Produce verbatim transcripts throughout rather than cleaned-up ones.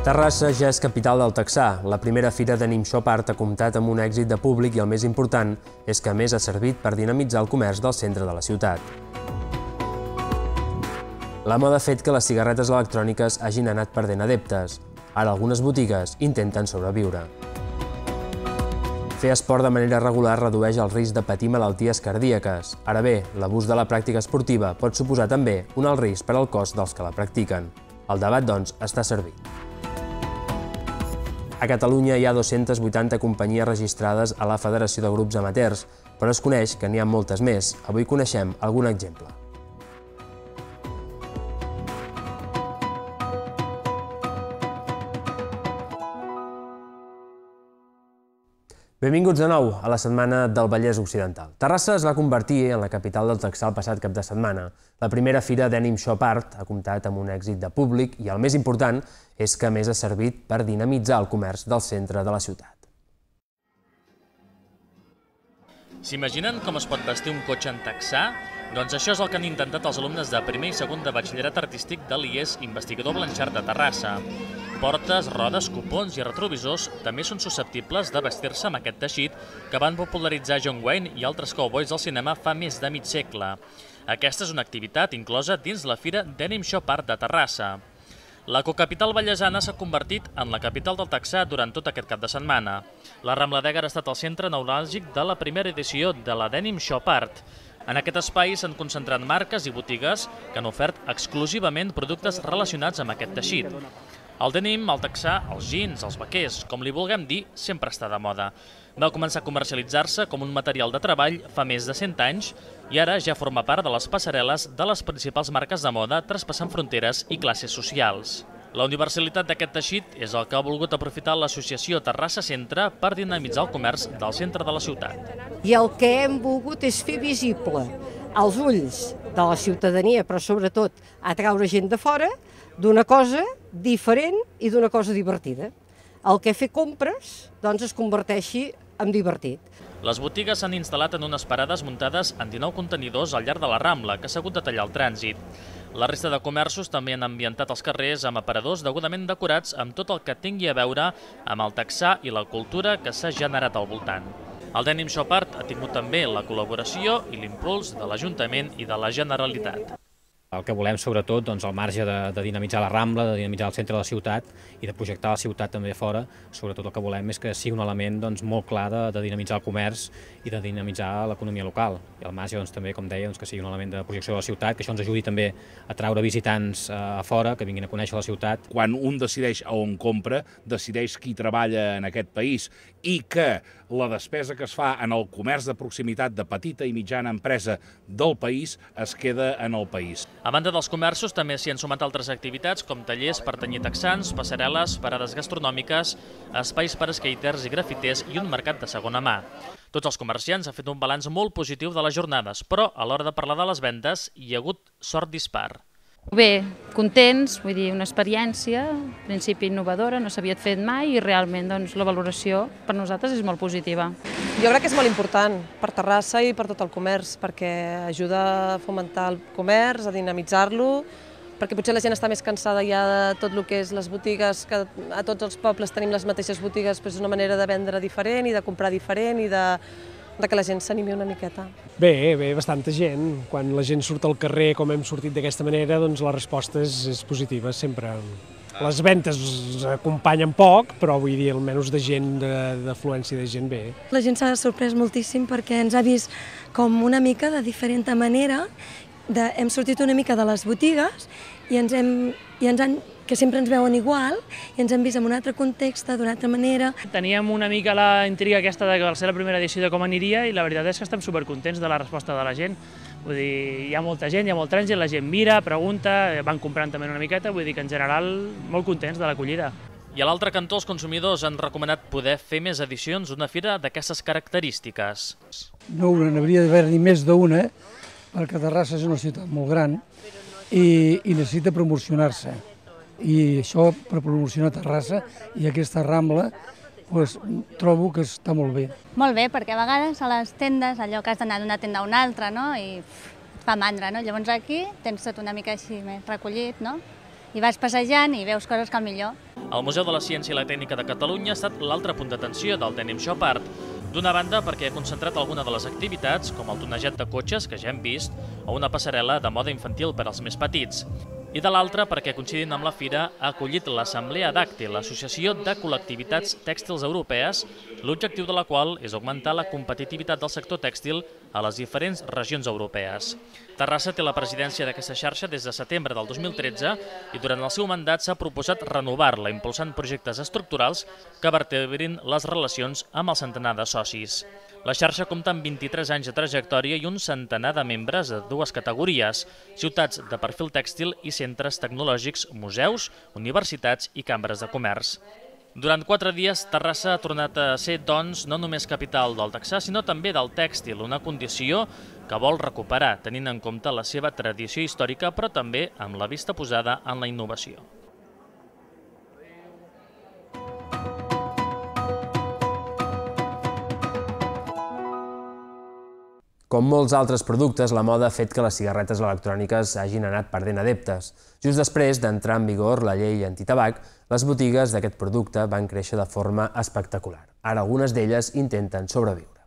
Terrassa ja és capital del texà. La primera fira d'Anim Shop Art ha comptat amb un èxit de públic i el més important és que a més ha servit per dinamitzar el comerç del centre de la ciutat. La moda ha fet que les cigarretes electròniques hagin anat perdent adeptes. Ara algunes botigues intenten sobreviure. Fer esport de manera regular redueix el risc de patir malalties cardíaques. Ara bé, l'abús de la pràctica esportiva pot suposar també un alt risc per al cos dels que la practiquen. El debat, doncs, està servit. A Catalunya hi ha dos-centes vuitanta companyies registrades a la Federació de Grups Amateurs, però es coneix que n'hi ha moltes més. Avui coneixem algun exemple. Benvinguts de nou a la Setmana del Vallès Occidental. Terrassa es va convertir en la capital del texà el passat cap de setmana. La primera fira d'Anim Shop Art ha comptat amb un èxit de públic i el més important és que a més ha servit per dinamitzar el comerç del centre de la ciutat. S'imaginen com es pot vestir un cotxe en texà? Doncs això és el que han intentat els alumnes de primer i segon de batxillerat artístic de l'I E S Investigador Blanxart de Terrassa. Portes, rodes, cupons i retrovisors també són susceptibles de vestir-se amb aquest teixit que van popularitzar John Wayne i altres cowboys del cinema fa més de mig segle. Aquesta és una activitat inclosa dins la fira d'Anim Shop Art de Terrassa. La cocapital vallesana s'ha convertit en la capital del texà durant tot aquest cap de setmana. La Rambla d'Ègara ha estat el centre neuràlgic de la primera edició de la d'Anim Shop Art. En aquest espai s'han concentrat marques i botigues que han ofert exclusivament productes relacionats amb aquest teixit. El denim, el texà, els jeans, els vaquers, com li vulguem dir, sempre està de moda. Va començar a comercialitzar-se com un material de treball fa més de cent anys i ara ja forma part de les passarel·les de les principals marques de moda traspassant fronteres i classes socials. La universalitat d'aquest teixit és el que ha volgut aprofitar l'associació Terrassa Centre per dinamitzar el comerç del centre de la ciutat. I el que hem volgut és fer visible als ulls de la ciutadania, però sobretot atraure gent de fora, d'una cosa diferent i d'una cosa divertida. El que fer compres doncs, es converteixi en divertit. Les botigues s'han instal·lat en unes parades muntades en dinou contenidors al llarg de la Rambla, que s'ha hagut de tallar el trànsit. La resta de comerços també han ambientat els carrers amb aparadors degudament decorats amb tot el que tingui a veure amb el texà i la cultura que s'ha generat al voltant. El d'Anim Shop Art ha tingut també la col·laboració i l'impuls de l'Ajuntament i de la Generalitat. El que volem, sobretot, doncs, al marge de, de dinamitzar la Rambla, de dinamitzar el centre de la ciutat i de projectar la ciutat també a fora, sobretot el que volem és que sigui un element doncs, molt clar de, de dinamitzar el comerç i de dinamitzar l'economia local. I al marge, doncs, també, com deia, doncs, que sigui un element de projecció de la ciutat, que això ens ajudi també a traure visitants eh, a fora, que vinguin a conèixer la ciutat. Quan un decideix a on compra, decideix qui treballa en aquest país i que la despesa que es fa en el comerç de proximitat de petita i mitjana empresa del país es queda en el país. A banda dels comerços, també s'hi han sumat altres activitats com tallers per tenyir texans, passarel·les, parades gastronòmiques, espais per a skaters i grafiters i un mercat de segona mà. Tots els comerciants han fet un balanç molt positiu de les jornades, però a l'hora de parlar de les vendes hi ha hagut sort dispar. Bé, contents, vull dir, una experiència, en principi innovadora, no s'havia fet mai i realment doncs, la valoració per nosaltres és molt positiva. Jo crec que és molt important per Terrassa i per tot el comerç, perquè ajuda a fomentar el comerç, a dinamitzar-lo, perquè potser la gent està més cansada ja de tot el que és les botigues, que a tots els pobles tenim les mateixes botigues, però és una manera de vendre diferent i de comprar diferent i de... de que la gent s'animi una miqueta. Bé, bé, bastanta gent. Quan la gent surt al carrer com hem sortit d'aquesta manera, doncs la resposta és, és positiva, sempre. Les ventes acompanyen poc, però vull dir, almenys de gent, d'afluència de gent bé. La gent s'ha sorprès moltíssim perquè ens ha vist com una mica de diferent manera, de, hem sortit una mica de les botigues i ens hem, i ens han que sempre ens veuen igual i ens han vist en un altre context, d'una altra manera. Teníem una mica la intriga aquesta de que va ser la primera edició de com aniria i la veritat és que estem supercontents de la resposta de la gent. Vull dir, hi ha molta gent, hi ha molt trànsit, la gent mira, pregunta, van comprant també una miqueta, vull dir que en general molt contents de l'acollida. I a l'altre cantó els consumidors han recomanat poder fer més edicions d'una fira d'aquestes característiques. No, n'hauria d'haver-n'hi més d'una, perquè Terrassa és una ciutat molt gran i, i necessita promocionar-se. I això per promocionar Terrassa i aquesta Rambla pues, trobo que està molt bé. Molt bé, perquè a vegades a les tendes allò que has d'anar d'una tenda a una altra, no? I fa mandra, no? Llavors aquí tens tot una mica així més recollit, no? i vas passejant i veus coses que al millor. El Museu de la Ciència i la Tècnica de Catalunya ha estat l'altre punt d'atenció del Denim Shop Art. D'una banda, perquè ha concentrat alguna de les activitats, com el tonejat de cotxes, que ja hem vist, o una passarel·la de moda infantil per als més petits. I de l'altra, perquè coincidint amb la fira, ha acollit l'Assemblea Dàctil, l'Associació de Col·lectivitats Tèxtils Europees, l'objectiu de la qual és augmentar la competitivitat del sector tèxtil a les diferents regions europees. Terrassa té la presidència d'aquesta xarxa des de setembre del dos mil tretze i durant el seu mandat s'ha proposat renovar-la, impulsant projectes estructurals que vertebrin les relacions amb el centenar de socis. La xarxa compta amb vint-i-tres anys de trajectòria i un centenar de membres de dues categories, ciutats de perfil tèxtil i centres tecnològics, museus, universitats i cambres de comerç. Durant quatre dies, Terrassa ha tornat a ser, doncs, no només capital del texà, sinó també del tèxtil, una condició que vol recuperar, tenint en compte la seva tradició històrica, però també amb la vista posada en la innovació. Com molts altres productes, la moda ha fet que les cigarretes electròniques hagin anat perdent adeptes. Just després d'entrar en vigor la llei antitabac, les botigues d'aquest producte van créixer de forma espectacular. Ara algunes d'elles intenten sobreviure.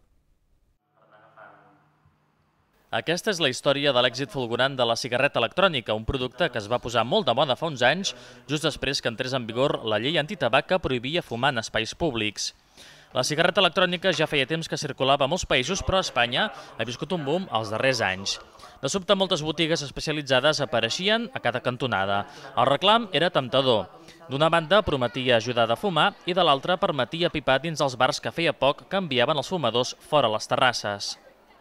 Aquesta és la història de l'èxit fulgurant de la cigarreta electrònica, un producte que es va posar molt de moda fa uns anys, just després que entrés en vigor la llei antitabac que prohibia fumar en espais públics. La cigarreta electrònica ja feia temps que circulava a molts països, però a Espanya ha viscut un boom els darrers anys. De sobte, moltes botigues especialitzades apareixien a cada cantonada. El reclam era temptador. D'una banda, prometia ajudar a fumar i de l'altra permetia pipar dins els bars que feia poc que enviaven els fumadors fora a les terrasses.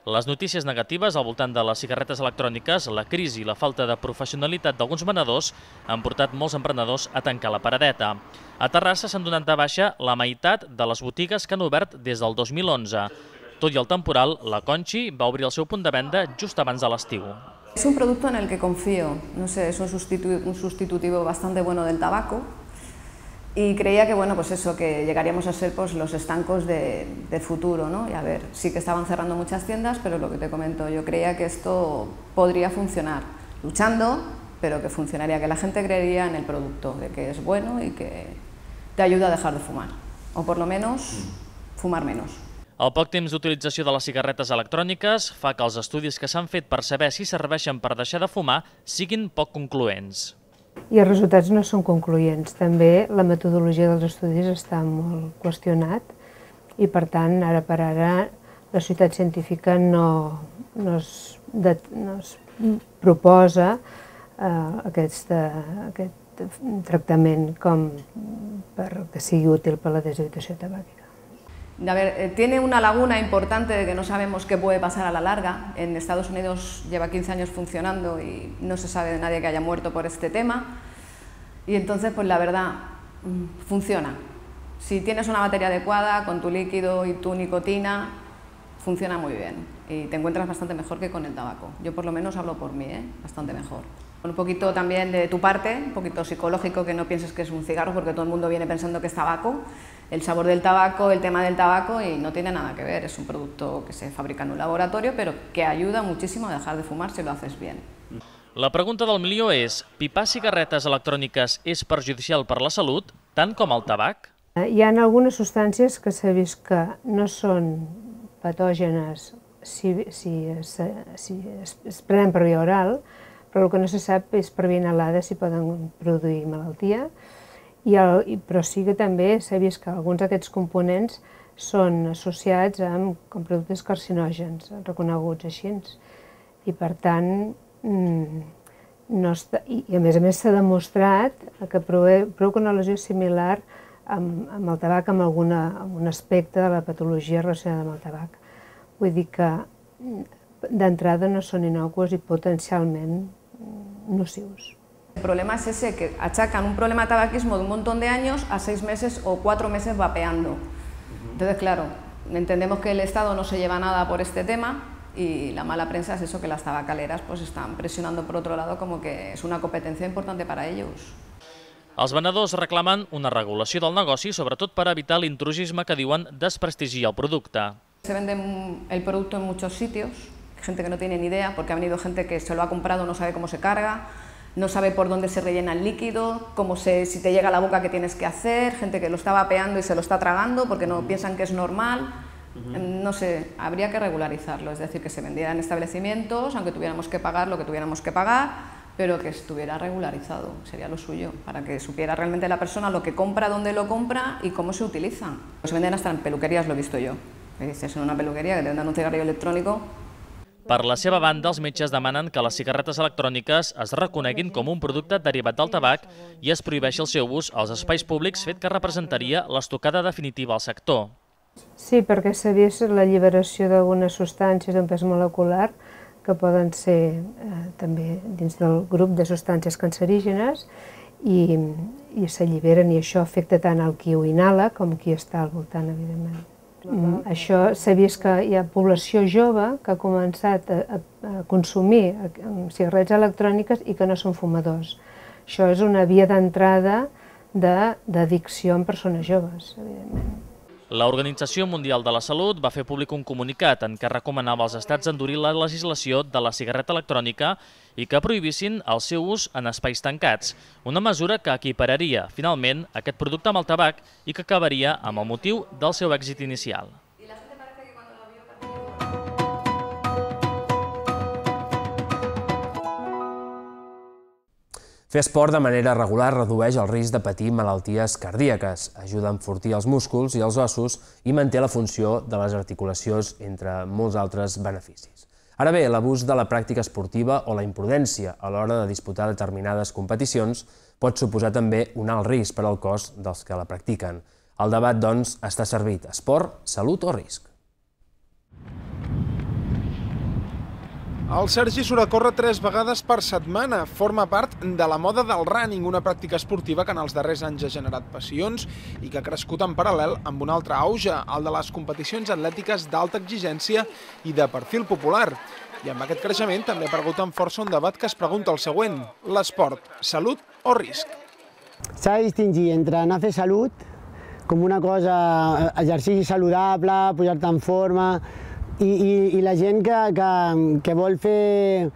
Les notícies negatives al voltant de les cigarretes electròniques, la crisi i la falta de professionalitat d'alguns venedors han portat molts emprenedors a tancar la paradeta. A Terrassa s'han donat de baixa la meitat de les botigues que han obert des del dos mil onze. Tot i el temporal, la Conchi va obrir el seu punt de venda just abans de l'estiu. Es un producto en el que confío, no sé, es un sustitu- un sustitutivo bastante bueno del tabaco y creía que, bueno, pues eso, que llegaríamos a ser pues, los estancos de, de futuro, ¿no? Y a ver, sí que estaban cerrando muchas tiendas, pero lo que te comento, yo creía que esto podría funcionar, luchando, pero que funcionaría, que la gente creería en el producto, de que es bueno y que te ayuda a dejar de fumar, o por lo menos fumar menos. El poc temps d'utilització de les cigarretes electròniques fa que els estudis que s'han fet per saber si serveixen per deixar de fumar siguin poc concloents. I els resultats no són concloents. També la metodologia dels estudis està molt qüestionat i, per tant, ara per ara, la societat científica no, no, es, de, no es proposa eh, aquest, aquest tractament com per que sigui útil per a la deshabitació tabàquica. A ver, tiene una laguna importante de que no sabemos qué puede pasar a la larga. En Estados Unidos lleva quince años funcionando y no se sabe de nadie que haya muerto por este tema. Y entonces, pues la verdad, funciona. Si tienes una batería adecuada, con tu líquido y tu nicotina, funciona muy bien. Y te encuentras bastante mejor que con el tabaco. Yo por lo menos hablo por mí, ¿eh? Bastante mejor. Un poquito también de tu parte, un poquito psicológico, que no pienses que es un cigarro, porque todo el mundo viene pensando que es tabaco. El sabor del tabaco, el tema del tabaco, y no tiene nada que ver. Es un producto que se fabrica en un laboratorio, pero que ayuda muchísimo a dejar de fumar si lo haces bien. La pregunta del milió és: pipar cigarretes electròniques és perjudicial per la salut, tant com el tabac? Hi ha algunes substàncies que s'ha vist que no són patògenes si, si, es, si es, es prenen per via oral, però el que no se sap és per via inhalada si poden produir malaltia, i el, però sí que també s'ha vist que alguns d'aquests components són associats amb com productes carcinògens, reconeguts així. I per tant, no està, i a més a més s'ha demostrat que provoca una lesió similar amb, amb el tabac, amb, alguna, amb un aspecte de la patologia relacionada amb el tabac. Vull dir que d'entrada no són innocuos i potencialment nocius. El problema es ese, que achacan un problema de tabaquismo de un montón de años a seis meses o cuatro meses vapeando. Entonces, claro, entendemos que el Estado no se lleva nada por este tema y la mala prensa es eso, que las tabacaleras pues están presionando por otro lado como que es una competencia importante para ellos. Els venedors reclamen una regulació del negoci, sobretot per evitar l'intrusisme que diuen desprestigia el producte. Se vende el producto en muchos sitios, gente que no tiene ni idea, porque ha venido gente que se lo ha comprado, no sabe cómo se carga, no sabe por dónde se rellena el líquido, cómo se, si te llega a la boca qué tienes que hacer, gente que lo está vapeando y se lo está tragando porque no piensan que es normal. No sé, habría que regularizarlo, es decir, que se vendiera en establecimientos, aunque tuviéramos que pagar lo que tuviéramos que pagar, pero que estuviera regularizado, sería lo suyo, para que supiera realmente la persona lo que compra, dónde lo compra y cómo se utiliza. Se venden hasta en peluquerías, lo he visto yo. Que dices, en una peluquería que te vendan un cigarrillo electrónico. Per la seva banda, els metges demanen que les cigarretes electròniques es reconeguin com un producte derivat del tabac i es prohibeixi el seu ús als espais públics, fet que representaria l'estocada definitiva al sector. Sí, perquè s'ha vist l'alliberació d'algunes substàncies d'un pes molecular que poden ser eh, també dins del grup de substàncies cancerígenes i, i s'alliberen i això afecta tant al qui ho inhala com qui està al voltant, evidentment. Mm, això s'ha vist que hi ha població jove que ha començat a, a, a consumir cigarretes electròniques i que no són fumadors. Això és una via d'entrada d'addicció en persones joves, evidentment. L'Organització Mundial de la Salut va fer públic un comunicat en què recomanava als estats endurir la legislació de la cigarreta electrònica i que prohibissin el seu ús en espais tancats, una mesura que equipararia, finalment, aquest producte amb el tabac i que acabaria amb el motiu del seu èxit inicial. Fer esport de manera regular redueix el risc de patir malalties cardíaques, ajuda a enfortir els músculs i els ossos i manté la funció de les articulacions, entre molts altres beneficis. Ara bé, l'abús de la pràctica esportiva o la imprudència a l'hora de disputar determinades competicions pot suposar també un alt risc per al cos dels que la practiquen. El debat, doncs, està servit. Esport, salut o risc? El Sergi surt a córrer tres vegades per setmana. Forma part de la moda del running, una pràctica esportiva que en els darrers anys ha generat passions i que ha crescut en paral·lel amb un altre auge, el de les competicions atlètiques d'alta exigència i de perfil popular. I amb aquest creixement també ha aparegut amb força un debat que es pregunta el següent: l'esport, salut o risc? S'ha de distingir entre anar a fer salut, com una cosa, exercici saludable, posar-te en forma, I, i, i la gent que, que, que vol fer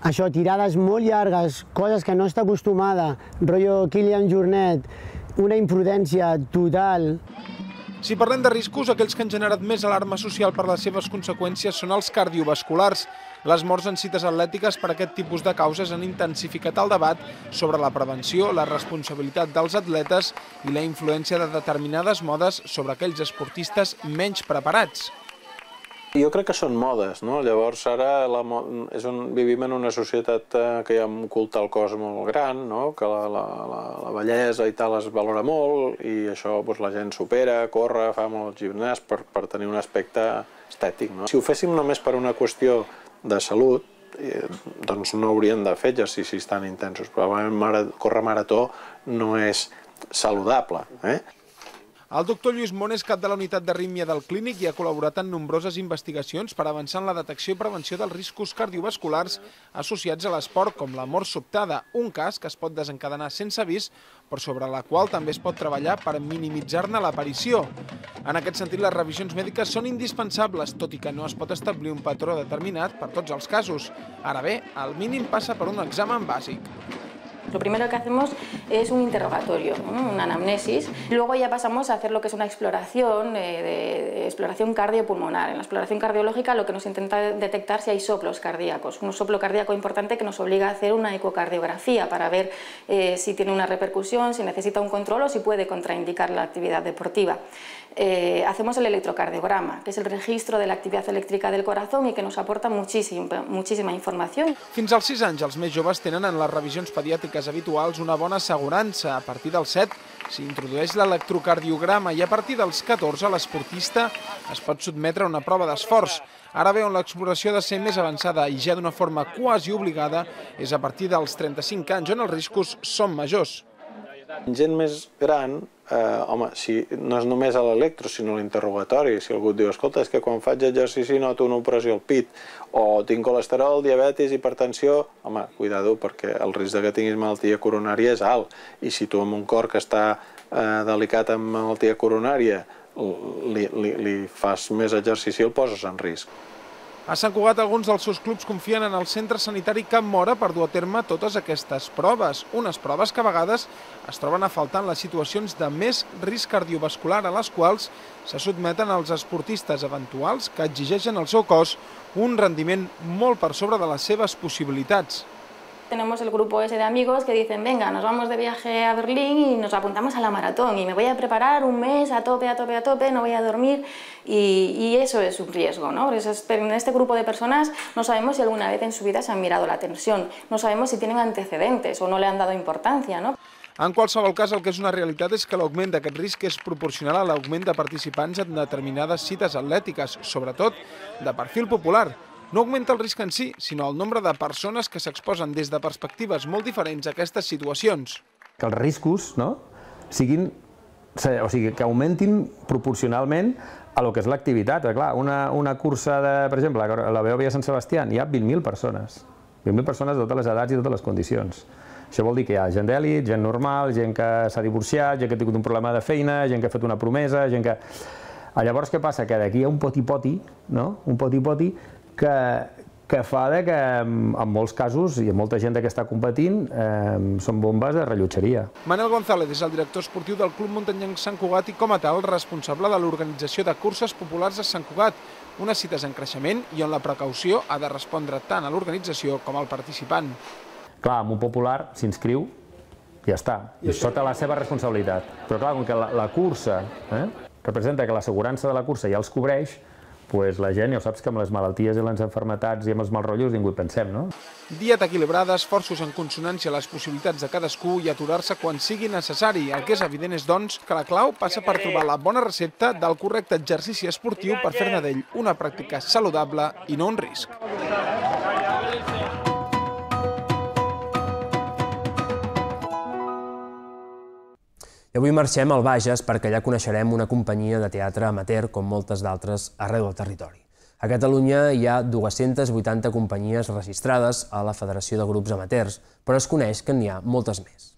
això, tirades molt llargues, coses que no està acostumada, rotllo Kilian Jornet, una imprudència total. Si parlem de riscos, aquells que han generat més alarma social per les seves conseqüències són els cardiovasculars. Les morts en cites atlètiques per aquest tipus de causes han intensificat el debat sobre la prevenció, la responsabilitat dels atletes i la influència de determinades modes sobre aquells esportistes menys preparats. Jo crec que són modes, no? Llavors ara la, és un, vivim en una societat que hi ha un culte al cos molt gran, no? Que la, la, la, la bellesa i tal es valora molt i això doncs, la gent supera, corre, fa molt gimnàs per, per tenir un aspecte estètic. No? Si ho féssim només per una qüestió de salut, eh, doncs no hauríem de fer exercicis tan intensos. Probablement córrer marató no és saludable. Eh? El doctor Lluís Món és cap de la unitat d'arrítmia del Clínic i ha col·laborat en nombroses investigacions per avançar en la detecció i prevenció dels riscos cardiovasculars associats a l'esport, com la mort sobtada, un cas que es pot desencadenar sense avís, però sobre la qual també es pot treballar per minimitzar-ne l'aparició. En aquest sentit, les revisions mèdiques són indispensables, tot i que no es pot establir un patró determinat per tots els casos. Ara bé, el mínim passa per un examen bàsic. Lo primero que hacemos es un interrogatorio, ¿no? Una anamnesis. Luego ya pasamos a hacer lo que es una exploración, eh, de exploración cardiopulmonar. En la exploración cardiológica lo que nos intenta detectar si hay soplos cardíacos. Un soplo cardíaco importante que nos obliga a hacer una ecocardiografía para ver eh, si tiene una repercusión, si necesita un control o si puede contraindicar la actividad deportiva. Eh, hacemos el electrocardiograma, que és el registro de l'activitat elèctrica del corazón i que nos aporta muchísima, muchísima informació. Fins als sis anys, els més joves tenen en les revisions pediàtriques habituals una bona assegurança. A partir dels set s'hi introdueix l'electrocardiograma i a partir dels catorze l'esportista es pot sotmetre a una prova d'esforç. Ara bé, on l'exploració ha de ser més avançada i ja d'una forma quasi obligada és a partir dels trenta-cinc anys, on els riscos són majors. Gent més gran, eh, home, si no és només a l'electro, sinó a l'interrogatori. Si algú et diu, escolta, és que quan faig exercici noto una opressió al pit, o tinc colesterol, diabetis, hipertensió, home, cuidado, perquè el risc que tinguis malaltia coronària és alt. I si tu amb un cor que està eh, delicat amb malaltia coronària li, li, li fas més exercici, el poses en risc. A Sant Cugat, alguns dels seus clubs confien en el centre sanitari Can Móra per dur a terme totes aquestes proves. Unes proves que a vegades es troben a faltar en les situacions de més risc cardiovascular a les quals se sotmeten els esportistes eventuals que exigeixen al seu cos un rendiment molt per sobre de les seves possibilitats. Tenemos el grupo ese de amigos que dicen, venga, nos vamos de viaje a Berlín y nos apuntamos a la maratón y me voy a preparar un mes a tope, a tope, a tope, no voy a dormir y, y eso es un riesgo, ¿no? Pero en este grupo de personas no sabemos si alguna vez en su vida se han mirado la tensión, no sabemos si tienen antecedentes o no le han dado importancia, ¿no? En qualsevol cas, el que és una realitat és que l'augment d'aquest risc és proporcional a l'augment de participants en determinades cites atlètiques, sobretot de perfil popular. No augmenta el risc en si, sinó el nombre de persones que s'exposen des de perspectives molt diferents a aquestes situacions. Que els riscos siguin, o sigui, que augmentin proporcionalment a lo que és l'activitat. Clar, una cursa, per exemple, a la Beòvia Sant Sebastià, hi ha vint mil persones. vint mil persones de totes les edats i totes les condicions. Això vol dir que hi ha gent d'èlit, gent normal, gent que s'ha divorciat, gent que ha tingut un problema de feina, gent que ha fet una promesa, gent que... Llavors, què passa? Que d'aquí hi ha un poti-poti, un poti-poti que fa que en molts casos, i molta gent que està competint, són bombes de rellotgeria. Manel González és el director esportiu del Club Muntanyenc Sant Cugat i, com a tal, responsable de l'organització de curses populars a Sant Cugat, unes cites en creixement i on la precaució ha de respondre tant a l'organització com al participant. Clar, amb un popular s'inscriu i ja està, és sota la seva responsabilitat. Però clar, com que la cursa representa que l'assegurança de la cursa ja els cobreix, doncs la gent, ja ho saps que amb les malalties i les malalties i amb els malrotllos ningú hi pensem, no? Dieta equilibrada, esforços en consonància a les possibilitats de cadascú i aturar-se quan sigui necessari. El que és evident és, doncs, que la clau passa per trobar la bona recepta del correcte exercici esportiu per fer-ne d'ell una pràctica saludable i no un risc. I avui marxem al Bages perquè allà coneixerem una companyia de teatre amateur com moltes d'altres arreu del territori. A Catalunya hi ha dues-centes vuitanta companyies registrades a la Federació de Grups Amateurs, però es coneix que n'hi ha moltes més.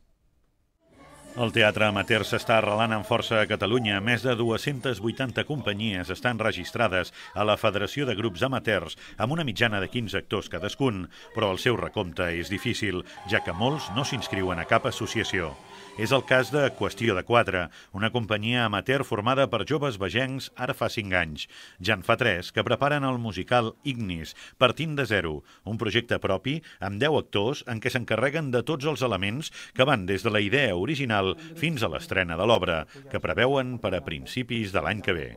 El teatre amateur s'està arrelant amb força a Catalunya. Més de dues-centes vuitanta companyies estan registrades a la Federació de Grups Amateurs, amb una mitjana de quinze actors cadascun, però el seu recompte és difícil, ja que molts no s'inscriuen a cap associació. És el cas de Qüestió de Quatre, una companyia amateur formada per joves vegencs ara fa cinc anys. Ja en fa tres que preparen el musical Ignis, partint de zero, un projecte propi amb deu actors en què s'encarreguen de tots els elements que van des de la idea original fins a l'estrena de l'obra, que preveuen per a principis de l'any que ve.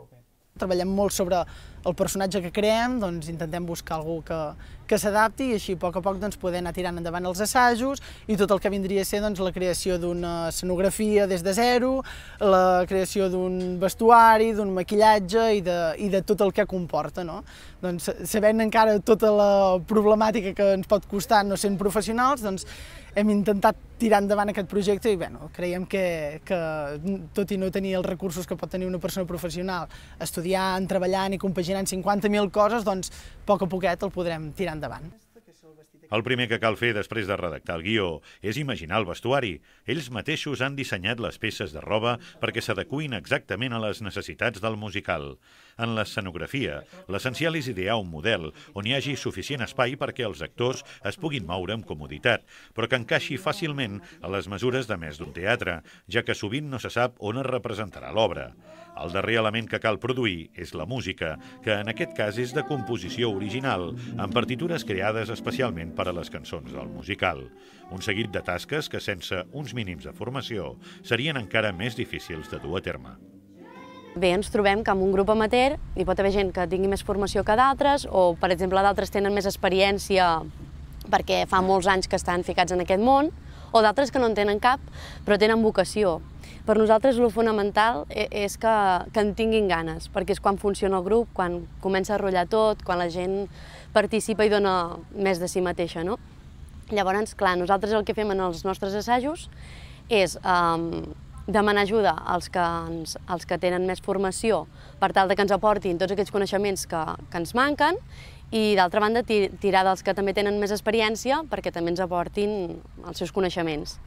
Treballem molt sobre el personatge que creem, doncs intentem buscar algú que, que s'adapti i així a poc a poc doncs, poder anar tirant endavant els assajos i tot el que vindria a ser doncs, la creació d'una escenografia des de zero, la creació d'un vestuari, d'un maquillatge i de, i de tot el que comporta. No? Doncs, sabent encara tota la problemàtica que ens pot costar no sent professionals, doncs, hem intentat tirar endavant aquest projecte i bueno, creiem que, que tot i no tenir els recursos que pot tenir una persona professional, estudiant, treballant i compaginant cinquanta mil coses, doncs a poc a poquet el podrem tirar endavant. El primer que cal fer després de redactar el guió és imaginar el vestuari. Ells mateixos han dissenyat les peces de roba perquè s'adeqüin exactament a les necessitats del musical. En l'escenografia, l'essencial és idear un model on hi hagi suficient espai perquè els actors es puguin moure amb comoditat, però que encaixi fàcilment a les mesures de més d'un teatre, ja que sovint no se sap on es representarà l'obra. El darrer element que cal produir és la música, que en aquest cas és de composició original, amb partitures creades especialment per a les cançons del musical. Un seguit de tasques que, sense uns mínims de formació, serien encara més difícils de dur a terme. Bé, ens trobem que en un grup amateur hi pot haver gent que tingui més formació que d'altres o, per exemple, d'altres tenen més experiència perquè fa molts anys que estan ficats en aquest món o d'altres que no en tenen cap però tenen vocació. Per nosaltres el fonamental és que, que en tinguin ganes, perquè és quan funciona el grup, quan comença a rotllar tot, quan la gent participa i dona més de si mateixa, no? Llavors, clar, nosaltres el que fem en els nostres assajos és um, demanar ajuda als que, ens, als que tenen més formació per tal de que ens aportin tots aquells coneixements que, que ens manquen i, d'altra banda, tirar dels que també tenen més experiència perquè també ens aportin els seus coneixements.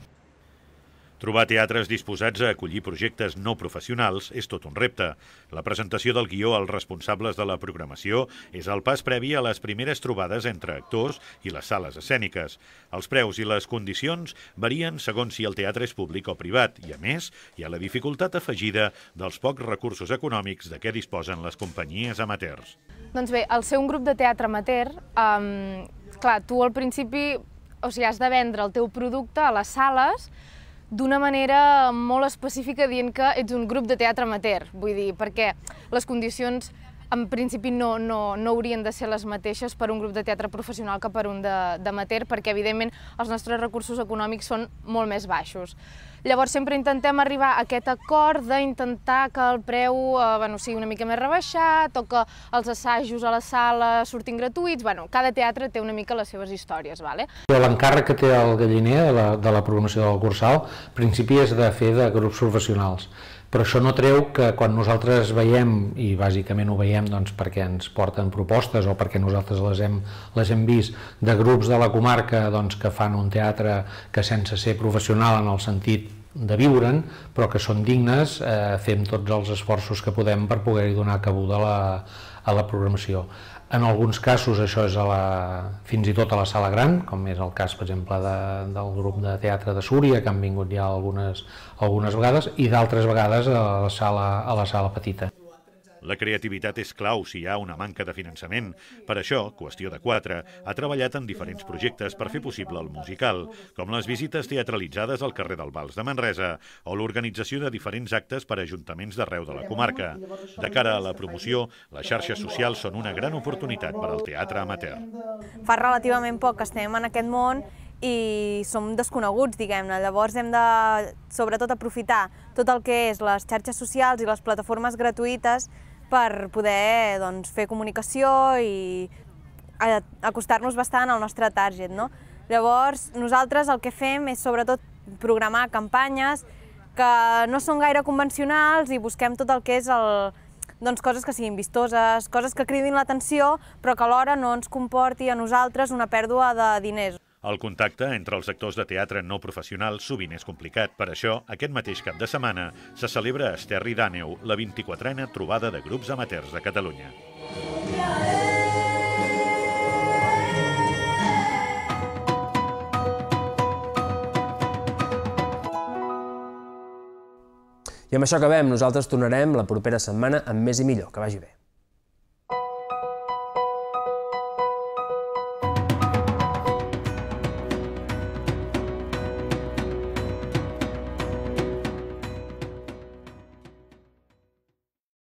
Trobar teatres disposats a acollir projectes no professionals és tot un repte. La presentació del guió als responsables de la programació és el pas previ a les primeres trobades entre actors i les sales escèniques. Els preus i les condicions varien segons si el teatre és públic o privat i, a més, hi ha la dificultat afegida dels pocs recursos econòmics de què disposen les companyies amateurs. Doncs bé, al ser un grup de teatre amateur, um, clar, tu al principi o sigui, has de vendre el teu producte a les sales d'una manera molt específica dient que ets un grup de teatre amateur, vull dir, perquè les condicions en principi no, no, no haurien de ser les mateixes per un grup de teatre professional que per un d'amateur, perquè evidentment els nostres recursos econòmics són molt més baixos. Llavors sempre intentem arribar a aquest acord d'intentar que el preu eh, bueno, sigui una mica més rebaixat o que els assajos a la sala surtin gratuïts. Bueno, cada teatre té una mica les seves històries. Vale? L'encàrrec que té el Galliner de la, de la programació del Cursal, en principi és de fer de grups professionals. Però això no treu que quan nosaltres veiem, i bàsicament ho veiem doncs, perquè ens porten propostes o perquè nosaltres les hem, les hem vist, de grups de la comarca doncs, que fan un teatre que sense ser professional en el sentit de viure'n, però que són dignes, eh, fem tots els esforços que podem per poder-hi donar cabuda a la, a la programació. En alguns casos això és a la, fins i tot a la sala gran, com és el cas, per exemple, de, del grup de teatre de Súria, que han vingut ja algunes, algunes vegades, i d'altres vegades a la, sala, a la sala petita. La creativitat és clau si hi ha una manca de finançament. Per això, Qüestió de Quatre ha treballat en diferents projectes per fer possible el musical, com les visites teatralitzades al carrer del Vals de Manresa o l'organització de diferents actes per a ajuntaments d'arreu de la comarca. De cara a la promoció, les xarxes socials són una gran oportunitat per al teatre amateur. Fa relativament poc que estem en aquest món i som desconeguts, diguem-ne. Llavors hem de, sobretot, aprofitar tot el que és les xarxes socials i les plataformes gratuïtes per poder doncs, fer comunicació i acostar-nos bastant al nostre target. No? Llavors, nosaltres el que fem és sobretot programar campanyes que no són gaire convencionals i busquem tot el que és el, doncs, coses que siguin vistoses, coses que cridin l'atenció, però que alhora no ens comporti a nosaltres una pèrdua de diners. El contacte entre els actors de teatre no professionals sovint és complicat. Per això, aquest mateix cap de setmana se celebra a Esterri d'Àneu la vint-i-quatrena trobada de grups amateurs de Catalunya. I amb això acabem. Nosaltres tornarem la propera setmana amb més i millor. Que vagi bé.